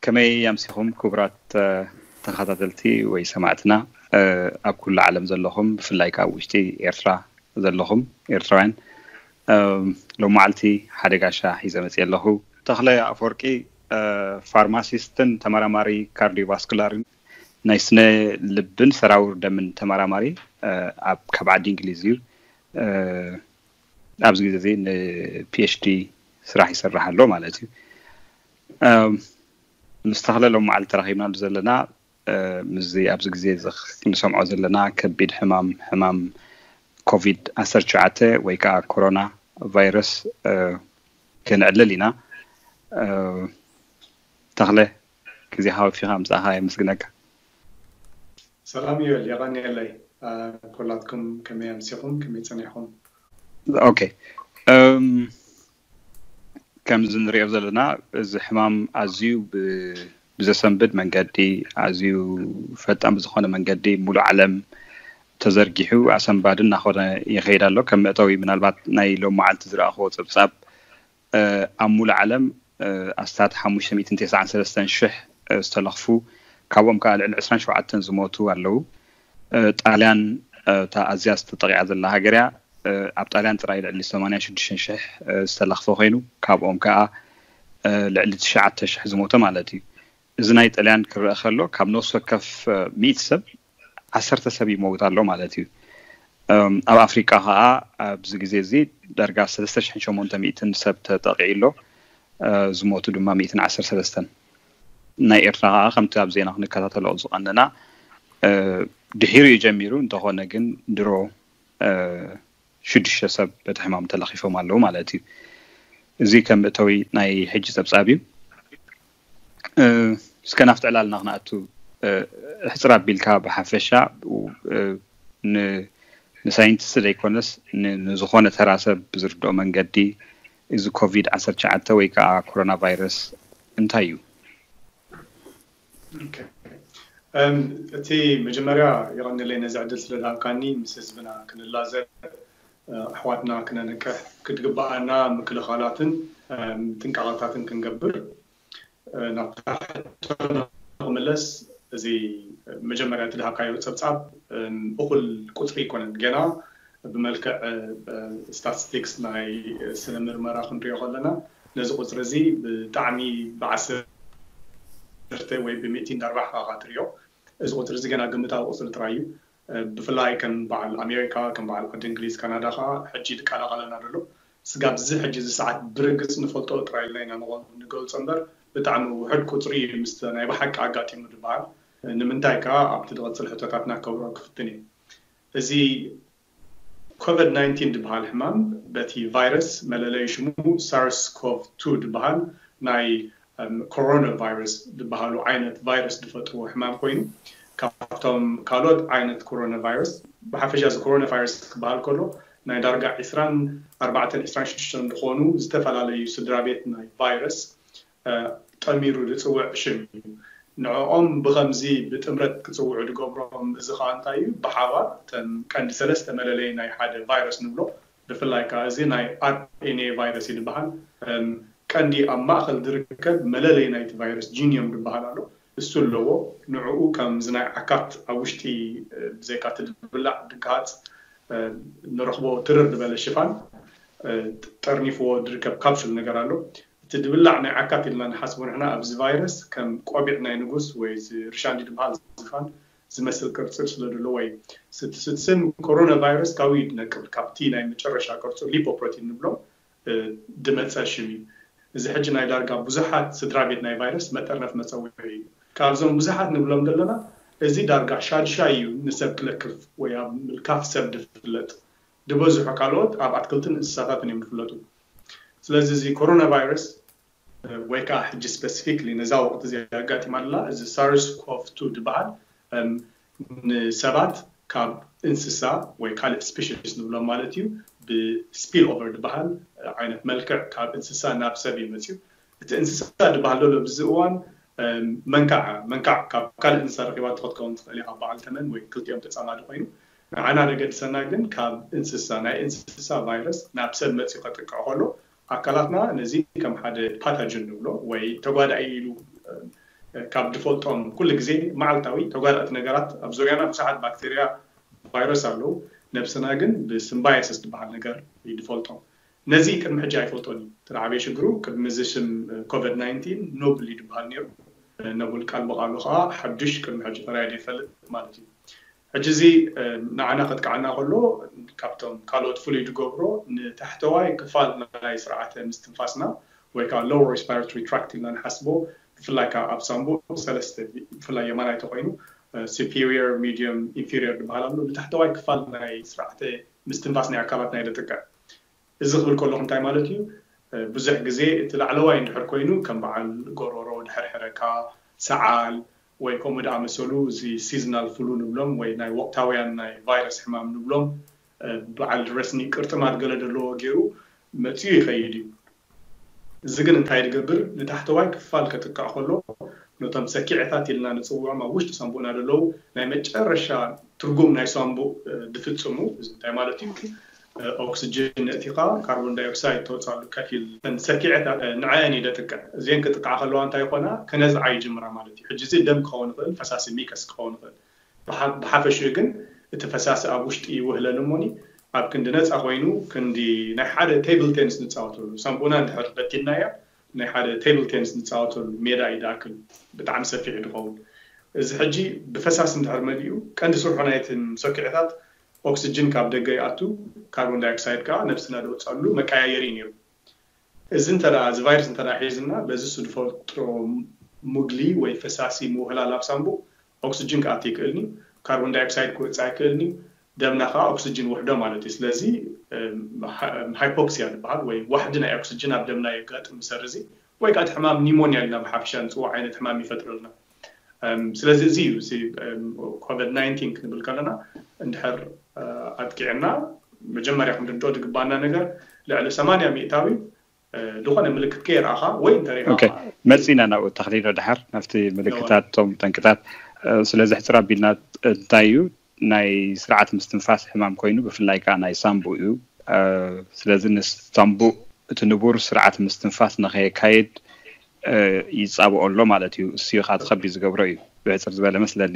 ከመይ ኣምሲኹም ክቡራት ተኸታተልቲ ወይ ሰማዕትና ኣብ ኩሉ ዓለም ዘለኹም፣ ብፍላይ ከዓ ውሽጢ ኤርትራ ዘለኹም ኤርትራውያን? ሎም መዓልቲ ሓደ ጋሻ ሒዘ መፅየ ኣለኹ። ተኽለ ኣፈወርቂ፣ ፋርማሲስትን ተመራማሪ ካርዲዮቫስኩላርን ናይ ስነ ልብን ሰራውር ደምን ተመራማሪ፣ ኣብ ካብ ዓዲ እንግሊዝ እዩ። ኣብዚ ግዜ እዚ ንፒኤችዲ ስራሕ ይሰርሕ ኣሎ ማለት እዩ። ምስ ተኽለ ሎም መዓልቲ ተራኺብናሉ ዘለና ምስዚ ኣብዚ ግዜ ንሰምዖ ዘለና ከቢድ ሕማም፣ ሕማም ኮቪድ ዓሰርተ ትሽዓተ ወይ ከዓ ኮሮና ቫይረስ ክነዕልል ኢና። ተኽለ፣ ግዜኻ ወፊኻ ምጻእኻ የመስግነካ። ሰላም ዮል፣ የቐንየለይ። ኩላትኩም ከመይ ኣምሲኹም፣ ከመይ ጸኒሕኩም? ኦኬ። ከምዚ ንሪኦ ዘለና፣ እዚ ሕማም ኣዝዩ ብዘሰንብድ መንገዲ፣ ኣዝዩ ፈጣን ብዝኾነ መንገዲ ሙሉእ ዓለም ተዘርጊሑ ኣሰንባዲ እናኾነ ይኸይድ ኣሎ። ከም መእተዊ ምናልባት ናይ ሎም መዓልቲ ዝረኣኽዎ ጸብጻብ፣ ኣብ ሙሉእ ዓለም ኣስታት ሓሙሽተ ሚእትን ተስዓን ሰለስተን ሽሕ ዝተለኽፉ፣ ካብኦም ከዓ ልዕሊ ዕስራን ሸውዓተን ዝሞቱ ኣለዉ። ጣልያን እታ ኣዝያ ዝተጠቂዓ ዘላ ሃገር እያ። ኣብ ጣልያን ጥራይ ልዕሊ ሰማንያን ሽዱሽተን ሽሕ ዝተለኽፈ ኮይኑ፣ ካብኦም ከዓ ልዕሊ ትሽዓተ ሽሕ ዝሞተ ማለት እዩ። እዚ ናይ ጣልያን ክረአ ከሎ፣ ካብ ነፍሲ ወከፍ ሚእቲ ሰብ ዓሰርተ ሰብ ይመውት ኣሎ ማለት እዩ። ኣብ ኣፍሪቃ ከዓ ኣብዚ ግዜ እዚ ዳርጋ ሰለስተ ሽሕን ሸሞንተ ሚእትን ሰብ ተጠቂዑ ኣሎ። ዝሞቱ ድማ ሚእትን ዓሰርተ ሰለስተን። ናይ ኤርትራ ከዓ ከምቲ ኣብ ዜና ክንከታተሎ ዝቐነና፣ ድሒሩ እዩ ጀሚሩ፣ እንተኾነ ግን ድሮ ሽዱሽተ ሰብ በቲ ሕማም ተለኺፎም ኣለዉ ማለት እዩ። እዚ ከም መእተዊ ናይ ሕጂ ጸብጻብ እዩ። እስከ ናብቲ ዕላልና ክንኣቱ፣ ሕጽር ኣቢልካ ብሓፈሻ ንሳይንቲስት ዘይኮነስ ንዝኾነ ተራ ሰብ ብዝርድኦ መንገዲ፣ እዚ ኮቪድ ዓሰርተ ትሽዓተ ወይ ከዓ ኮሮና ቫይረስ እንታይ እዩ? እቲ መጀመርያ የቐንለይ ነዚ ዕድል ስለዝሃብካኒ፣ ምስ ህዝብና ክንላዘብ፣ ኣሕዋትና ክነንቅሕ፣ ክትግበኣና ምክልኻላትን ጥንቃቐታትን ክንገብር። ናብታ ሕቶ ንኽምለስ፣ እዚ መጀመርያ እቲ ዝሃብካዮ ጸብጻብ እኹል ቁጽሪ ኣይኮነን። ገና ብመልክዕ ስታቲስቲክስ ናይ ስነ ምርመራ ክንሪኦ ከለና፣ ነዚ ቁጽሪ እዚ ብጣዕሚ ብዓሰርተ ወይ ብሚእቲ እንዳርባሕካ ኢኻ ትሪኦ። እዚ ቁጽሪ እዚ ገና ግምታዊ ቁጽሪ ጥራይ እዩ። ብፍላይ ከም በዓል ኣሜሪካ፣ ከም በዓል ዓዲ እንግሊዝ፣ ካናዳ ከዓ ሕጂ ይቀላቐለና ዘሎ። ስጋብ እዚ ሕጂ እዚ ሰዓት ብርግጽ ንፈልጦ ጥራይ ኢልና ኢና ንገልጾ እምበር፣ ብጣዕሚ ውሑድ ቁጽሪ እዩ ምስቲ ናይ ብሓቂ ኣጋጢሙ ዝበሃል። ንምንታይ ከዓ ኣብቲ ዝቕጽል ሕቶታትና ከብርሆ ክፍትን እየ። እዚ ኮቪድ ናይንቲን ዝበሃል ሕማም በቲ ቫይረስ መለለይ ሽሙ ሳርስ ኮቭ ቱ ዝበሃል ናይ ኮሮና ቫይረስ ዝበሃሉ ዓይነት ቫይረስ ዝፈጥርዎ ሕማም ኮይኑ፣ ካብቶም ካልኦት ዓይነት ኮሮና ቫይረስ፣ ብሓፈሻ እዚ ኮሮና ቫይረስ ክበሃል ከሎ ናይ ዳርጋ ዕስራን ኣርባዕተን ዕስራን ሽዱሽተን ዝኾኑ ዝተፈላለዩ ስድራ ቤት ናይ ቫይረስ ጠሚሩ ዝፅውዕ ሽም እዩ። ንዕኦም ብኸምዚ ብጥምረት ክፅውዑ ዝገብሮም እዚ ከዓ እንታይ እዩ? ብሓባር እተን ቀንዲ ሰለስተ መለለይ ናይ ሓደ ቫይረስ ንብሎ፣ ብፍላይ ከዓ እዚ ናይ ኣርኤንኤ ቫይረስ እዩ ዝበሃል። ቀንዲ ኣብ ማእኸል ዝርከብ መለለይ ናይቲ ቫይረስ ጂኒዮም ዝበሃል ኣሎ። እሱ ኣለዎ። ንዕኡ ከምዚ ናይ ዓካት ኣብ ውሽጢ ብዘይካ እቲ ድብላዕ ድግሃፅ ንረኽቦ ትርር ዝበለ ሽፋን ጠርኒፍዎ ዝርከብ ካፕሱል ነገር ኣሎ። እቲ ድብላዕ ናይ ዓካት ኢልና ንሓስቦ ንሕና ኣብዚ ቫይረስ ከም ቆቢዕ ናይ ንጉስ ወይ እዚ ርሻንዲ ዝበሃል ዝፋን ዝመስል ቅርፂ ስለ ዘለዎ እዩ። ስም ኮሮና ቫይረስ ካብኡ እዩ ዝነቅል፣ ካብቲ ናይ መጨረሻ ቅርፁ ሊፖፕሮቲን ንብሎ ድመፀ ሽም እዩ። እዚ ሕጂ ናይ ዳርጋ ብዙሓት ስድራ ቤት ናይ ቫይረስ መጠርነፍ መፀውዒ እዩ። ካብዞም ብዙሓት ንብሎም ዘለና እዚ ዳርጋ ሻድሻይ እዩ ንሰብ ክለክፍ ወይ ኣብ ምልካፍ ሰብ ዝፍለጥ። ዝበዝሑ ካልኦት ኣብ ኣትክልትን እንስሳታትን እዮም ዝፍለጡ። ስለዚ እዚ ኮሮና ቫይረስ ወይ ከዓ ሕጂ ስፐሲፊክሊ ነዛ ወቅቲ እዚ ኣጋጢማ ኣላ፣ እዚ ሳርስ ኮቭ ቱ ዝበሃል ንሰባት ካብ እንስሳ ወይ ካልእ ስፔሽስ ንብሎም ማለት እዩ ብስፒል ኦቨር ዝበሃል ዓይነት መልክዕ ካብ እንስሳ ናብ ሰብ እዩ መፅዩ። እቲ እንስሳ ዝበሃል ዘሎ ኣብዚ እዋን መንካዕ መንካዕ ካብ ካልእ እንስሳ ረኪባቶ ክትከውን ትኽእል እያ፣ ካብ በዓል ተመን ወይ ክልቲኦም ተፃማዲ ኮይኑ። ንዓና ዘገድሰና ግን ካብ እንስሳ ናይ እንስሳ ቫይረስ ናብ ሰብ መፅዩ ከጥቅዕ ከሎ ኣካላትና ነዚ ከም ሓደ ፓታጅን ንብሎ ወይ ተጓዳኢ ኢሉ ካብ ድፈልጦም ኩሉ ግዜ መዓልታዊ ተጓዳእቲ ነገራት ኣብ ዙርያና ብዙሓት ባክቴርያ፣ ቫይረስ ኣለዉ። ነብስና ግን ብስምባየስስ ዝበሃል ነገር ይድፈልጦም። ነዚ ቅድሚ ሕጂ ኣይፈልጦን እዩ። እቲ ዓብየ ሽግሩ ቅድሚ እዚ ሽም ኮቪድ ናይንቲን ኖብል እዩ ዝበሃል ነይሩ። ነቡል ቃል ብቃሉ ከዓ ሓዱሽ ቅድሚ ሕጂ ተራእዩ ዘይፈልጥ ማለት እዩ። ሕጂ እዚ ንዓና ከጥቃዓና ከሎ ካብቶም ካልኦት ፍሉይ ዝገብሮ ንታሕተዋይ ክፋል ናይ ስርዓተ ምስትንፋስና ወይ ከዓ lower respiratory tract ኢልና ንሓስቦ ብፍላይ ከዓ ኣብ ሳንቡእ ሰለስተ ብፍላይ የማናይ ተኮይኑ superior medium inferior ዝበሃል ኣሎ ንታሕተዋይ ክፋል ናይ ስርዓተ ምስትንፋስ ናይ ኣካላትና የጥቅዕ። እዚ ክብል ከለኹ እንታይ ማለት እዩ? ብዙሕ ግዜ እቲ ላዕለዋይ እንድሕር ኮይኑ ከም በዓል ጎሮሮ ድሕር ሕረካ፣ ሰዓል ወይ ከምኡ ዝኣመሰሉ እዚ seasonal flu ንብሎም ወይ ናይ ወቅታውያን ናይ ቫይረስ ሕማም ንብሎም በዓል ረስኒ ቅርጥማት ገለ ዘለዎ ገይሩ መፅኡ ይኸይድ እዩ። እዚ ግን እንታይ ዝገብር ንታሕተዋይ ክፋል ከጥቅዕ ከሎ ነቶም ሰኪዐታት ኢልና ንፅውዖም ኣብ ውሽጢ ሳንቡእና ዘለዉ ናይ መጨረሻ ትርጉም ናይ ሳንቡእ ድፍፅሙ እዚ እንታይ ማለት እዩ? ኦክስጅን ነእቲኻ ካርቦን ዳይኦክሳይድ ተወፅኣሉ ከፊል ሰኪዐታት ንዐአን ይደጥቀ እዚን ክጥቃዓ ከለዋ እንታይ ይኮና ከነዝዓ ይጅምራ ማለት እዩ። ሕጂ እዚ ደም ክኸውን ይኽእል ፈሳሲ ሚከስ ክኸውን ይኽእል። ብሓፈሽኡ ግን እቲ ፈሳሲ ኣብ ውሽጢ ይውህለል እሞኒ ኣብ ክንዲ ነፃ ኮይኑ ክንዲ ናይ ሓደ ቴብል ቴኒስ ንፃወተሉ ሳንቡና እንድሕር በቲንናያ ናይ ሓደ ቴብል ቴኒስ ንፃወተሉ ሜዳ እዩ ዝኣክል። ብጣዕሚ ሰፊሕ ድኸውን። እዚ ሕጂ ብፈሳሲ እንድሕር መሊኡ ቀንዲ ስርሑ ናይትን ሰኪዐታት ኦክስጅን ካብ ደገ ይኣቱ፣ ካርቦን ዳይኦክሳይድ ከዓ ነብስና ደውፀሉ መቀያየሪ እዩ ነይሩ። እዚ እንተ እዚ ቫይረስ እንተ ሒዝና በዚ ስድፈጥሮ ሙግሊ ወይ ፈሳሲ ምውህላል ኣብ ሳንቡእ ኦክስጅን ክኣቲ ይክእልኒ፣ ካርቦን ዳይኦክሳይድ ክወፅእ ኣይክእልኒ፣ ደምና ከዓ ኦክስጅን ውሕዶ ማለት እዩ። ስለዚ ሃይፖክሲያ ዝበሃል ወይ ዋሕዲ ናይ ኦክስጅን ኣብ ደምና የጋጥም ምሰር እዚ ወይ ከዓ ሕማም ኒሞኒያ ኢልና ብሓፈሻ ንፅዎ ዓይነት ሕማም ይፈጥረልና። ስለዚ እዚ እዩ ኮቪድ ናይንቲን ክንብል ከለና እንድሕር ኣጥቂዕና መጀመርያ ክንርድኦ ዝግባና ነገር ልዕሊ ሰማንያ ሚእታዊ ዝኾነ ምልክት ከየርኣኻ ወይ እንተሪኻ መፂና ናብኡ ተኽሊሎ ድሓር ናብቲ ምልክታት ቶም ጠንቅታት ስለዚ ሕፅር ኣቢልና እንታይ እዩ ናይ ስርዓት ምስትንፋስ ሕማም ኮይኑ ብፍላይ ከዓ ናይ ሳምቡ እዩ። ስለዚ ንሳምቡ እቲ ንቡር ስርዓት ምስትንፋስ ንኸየካየድ ይፃብኦ ኣሎ ማለት እዩ። እሱ ከዓ ትኸቢ ዝገብሮ እዩ ብሕፅር ዝበለ መስለኒ።